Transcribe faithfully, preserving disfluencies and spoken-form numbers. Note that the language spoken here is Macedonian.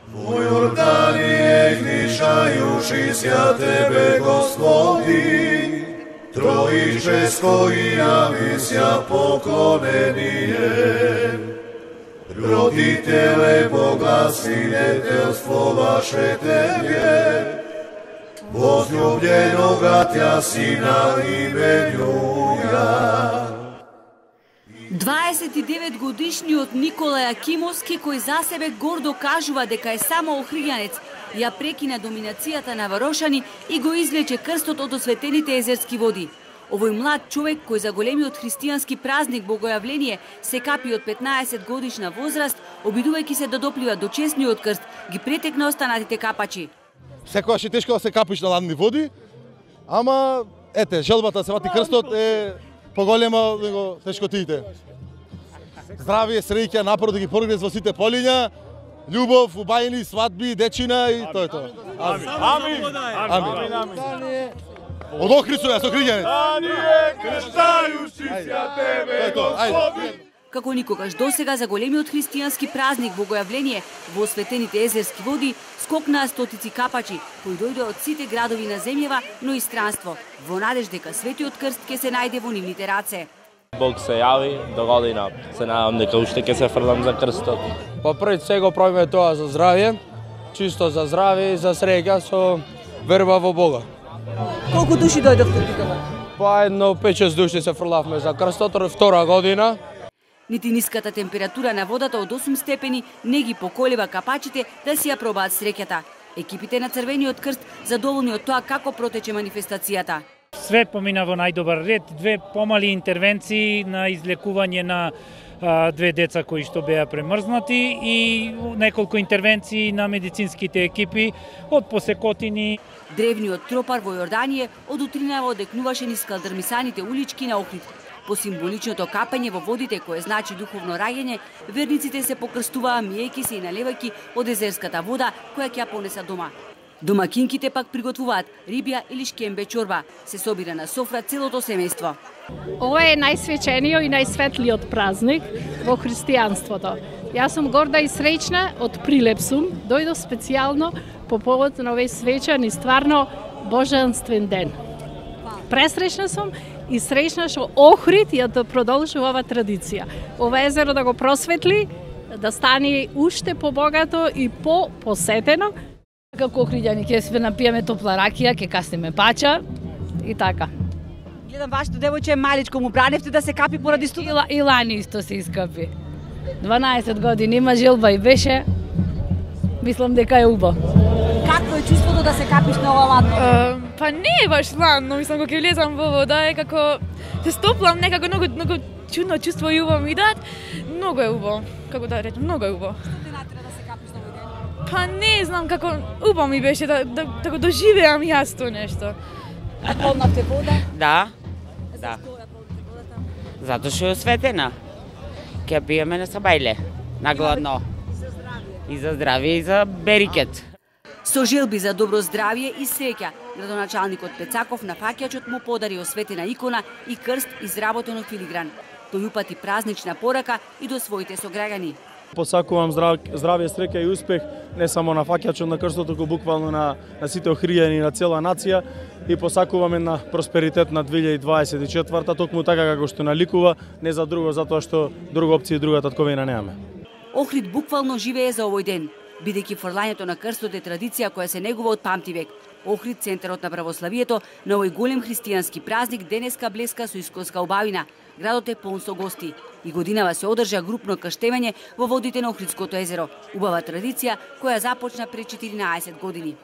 Во Јорданија гришајуши ся Тебе, Господи, Троическо и јавися поклонение. Родителе Бога, свидетелство ваше Тебе, возлюбленога Тја Сина именуја. дваесет и девет годишниот Никола Јакимовски, кој за себе гордо кажува дека е само охријанец, ја прекина доминацијата на Варошани и го извлече крстот од осветените езерски води. Овој млад човек, кој за големиот христијански празник Богојавление се капи од петнаесет годишна возраст, обидувајќи се да доплива до честниот крст, ги претекна останатите капачи. Секогаш е тешко да се капиш на ладни води, ама ете, желбата да се вати крстот е поголема него тешкотиите. Здравие, среќа, напор да ги прогрес во сите полиња, љубов, убајни, свадби, дечина и тоа е тоа. Амин. Амин. Амин. Амин. Од Охрид сум јас, охриѓанец. Тебе, Господи. Како никогаш досега за големиот христијански празник Богојавление во осветените езерски води скокнаа стотици капачи, кои дојдоа од сите градови на земјава, но и странство, во надеж дека светиот крст ќе се најде во нивните раце. Бог се јави до година, се надам дека уште ќе се фрлам за крстот. Па пред се го правиме тоа за здравје, чисто за здравје и за среќа со верба во Бога. Колку души дојдовте тука? Па едно пет-шест души се фрлавме за крстот, втора година. Нити ниската температура на водата од осум степени не ги поколева капачите да си ја пробаат среќата. Екипите на Црвениот крст задоволни од тоа како протече манифестацијата. Све помина во најдобар ред, две помали интервенции на излекување на а, две деца кои што беа премрзнати и неколку интервенции на медицинските екипи од посекотини. Древниот тропар во Јорданија од утринава одекнуваше низ калдрмисаните улички на Охрид. По символичното капење во водите, кое значи духовно раѓање, верниците се покрстуваа миејќи се и наливајќи од езерската вода која ќе ја понеса дома. Домакинките пак приготвуваат рибја или шкембе чорба. Се собира на софра целото семејство. Ова е најсвечениот и најсветлиот празник во христијанството. Јас сум горда и среќна, од Прилеп сум, дојдов специјално по повод на овој свечен и стварно божанствен ден. Пресреќна сум и среќна што Охрид ја да продолжува ова традиција. Ова езеро да го просветли, да стане уште побогато и по-посетено. Како охриѓани ќе се напиеме топла ракија, ќе касниме пача и така. Гледам вашето девојче е маличко, му браневте да се капи поради студа. И лани исто се искапи. дванаесет години има, желба и беше. Мислам дека е убаво. Какво е чувството да се капиш на ова ладно? Uh, па не е баш ладно, мислам кога ќе влезам во вода е како се стоплам, некако многу многу чудно чувство и убаво ми дат. Многу е убаво, како да речам, многу е убаво. Што те натера да се капиш на овој ден? Па не знам како убаво ми беше да да да го доживеам јас тоа нешто. А полнавте вода? Да. Да. Зашто ја полнавте водата? Затоа што е осветена. Ќе пиеме на сабајле, на гладно. За здравје. И за здравје и за берикет. Со желби за добро здравје и среќа, градоначалникот Пецаков на фаќачот му подари осветена икона и крст изработен од филигран. Тој упати празнична порака и до своите сограѓани. Посакувам здрав, здравје, среќа и успех не само на фаќачот на крстот, туку буквално на, на сите охријани на цела нација и посакувам една просперитет на две илјади дваесет и четврта, токму така како што наликува, не за друго, затоа што друга опција и друга татковина немаме. Охрид буквално живее за овој ден, бидејќи фрлањето на крстот е традиција која се негува од памтивек. Охрид, центарот на православието, на овој голем христијански празник денеска блеска со искоска убавина. Градот е полн со гости. И годинава се одржа групно крштевање во водите на Охридското езеро. Убава традиција која започна пред четиринаесет години.